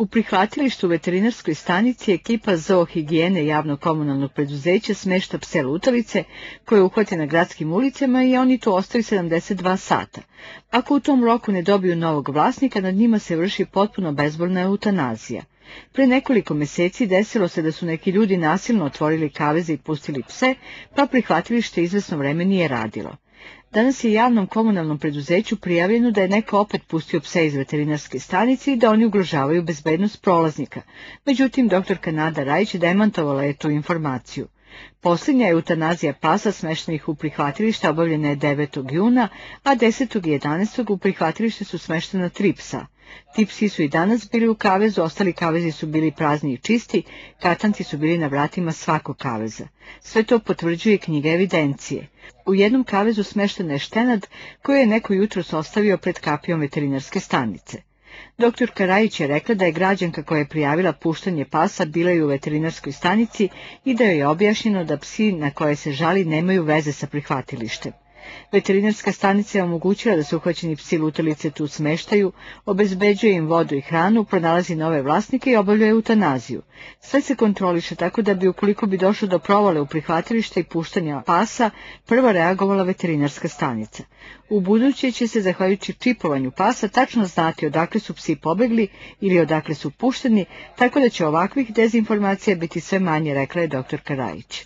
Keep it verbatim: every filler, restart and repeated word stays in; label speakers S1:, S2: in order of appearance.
S1: U prihvatilištu u veterinarskoj stanici ekipa zoohigijene javnog komunalnog preduzeća smešta pse lutalice koje uhvate na gradskim ulicama i oni tu ostaju sedamdeset dva sata. Ako u tom roku ne dobiju novog vlasnika, nad njima se vrši potpuno bezbolna eutanazija. Pre nekoliko meseci desilo se da su neki ljudi nasilno otvorili kaveze i pustili pse, pa prihvatilište izvesno vreme nije radilo. Danas je javnom komunalnom preduzeću prijavljeno da je neko opet pustio pse iz veterinarske stanice i da oni ugrožavaju bezbednost prolaznika. Međutim, doktorka Nada Rajić demantovala je tu informaciju. Posljednja eutanazija pasa smeštenih u prihvatilište obavljena je devetog juna, a desetog i jedanaestog u prihvatilište su smeštena tri psa. Ti psi su i danas bili u kavezu, ostali kavezi su bili prazni i čisti, katanci su bili na vratima svakog kaveza. Sve to potvrđuje knjiga evidencije. U jednom kavezu smeštena je štenad koju je neko jutros ostavio pred kapijom veterinarske stanice. Doktorka Rajić je rekla da je građanka koja je prijavila puštanje pasa bila i u veterinarskoj stanici i da joj je objašnjeno da psi na koje se žali nemaju veze sa prihvatilištem. Veterinarska stanica je omogućila da se uhvaćeni psi lutalice tu smeštaju, obezbeđuje im vodu i hranu, pronalazi nove vlasnike i obavlja eutanaziju. Sve se kontroliše tako da bi, ukoliko bi došlo do provale u prihvatilište i puštanja pasa, prva reagovala veterinarska stanica. U buduće će se, zahvaljujući čipovanju pasa, tačno znati odakle su psi pobegli ili odakle su pušteni, tako da će ovakvih dezinformacija biti sve manje, rekla je doktorka Rajić.